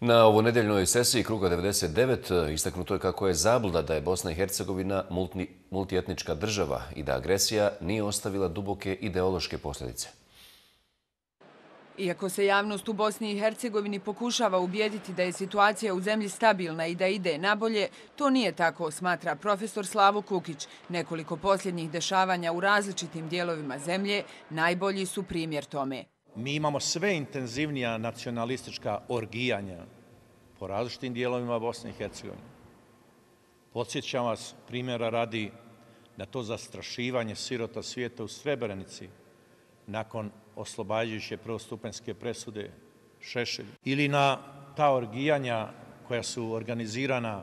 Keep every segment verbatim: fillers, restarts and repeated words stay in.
Na ovonedjeljnoj sesiji Kruga devedeset devet istaknuto je kako je zabluda da je Bosna i Hercegovina multi, multietnička država i da agresija nije ostavila duboke ideološke posljedice. Iako se javnost u Bosni i Hercegovini pokušava ubijediti da je situacija u zemlji stabilna i da ide nabolje, to nije tako, smatra profesor Slavo Kukić. Nekoliko posljednjih dešavanja u različitim dijelovima zemlje najbolji su primjer tome. Mi imamo sve intenzivnija nacionalistička orgijanja po različitim dijelovima Bosne i Hercegovine. Podsjećam vas, primjera radi, na to zastrašivanje sirota svijeta u Srebrenici nakon oslobađajuće prvostupanjske presude Šešelju. Ili na ta orgijanja koja su organizirana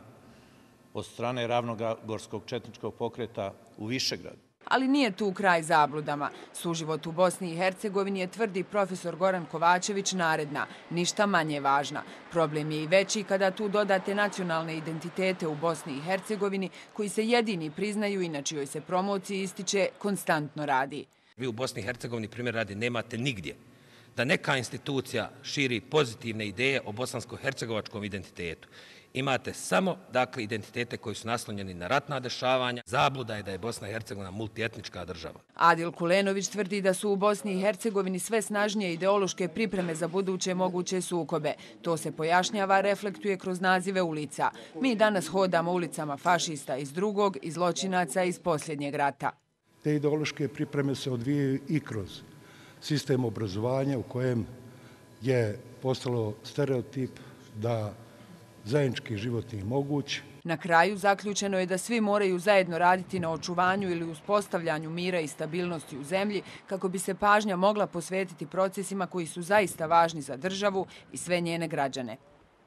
od strane Ravnogorskog četničkog pokreta u Višegradu. Ali nije tu kraj zabludama. Suživot u Bosni i Hercegovini je, tvrdi profesor Goran Kovačević, naredna, ništa manje važna. Problem je i veći kada tu dodate nacionalne identitete u Bosni i Hercegovini koji se jedini priznaju i na čijoj se promociji ističe konstantno radi. Vi u Bosni i Hercegovini, primjer radi, nemate nigdje da neka institucija širi pozitivne ideje o bosansko-hercegovačkom identitetu. Imate samo, dakle, identitete koji su naslonjeni na ratna dešavanja. Zabluda je da je Bosna i Hercegovina multietnička država. Adil Kulenović tvrdi da su u Bosni i Hercegovini sve snažnije ideološke pripreme za buduće moguće sukobe. To se pojašnjava, reflektuje kroz nazive ulica. Mi danas hodamo ulicama fašista iz drugog i zločinaca iz posljednjeg rata. Te ideološke pripreme se odvijaju i kroz sistem obrazovanja u kojem je postalo stereotip da zajednički život nije moguć. Na kraju zaključeno je da svi moraju zajedno raditi na očuvanju ili uspostavljanju mira i stabilnosti u zemlji kako bi se pažnja mogla posvetiti procesima koji su zaista važni za državu i sve njene građane.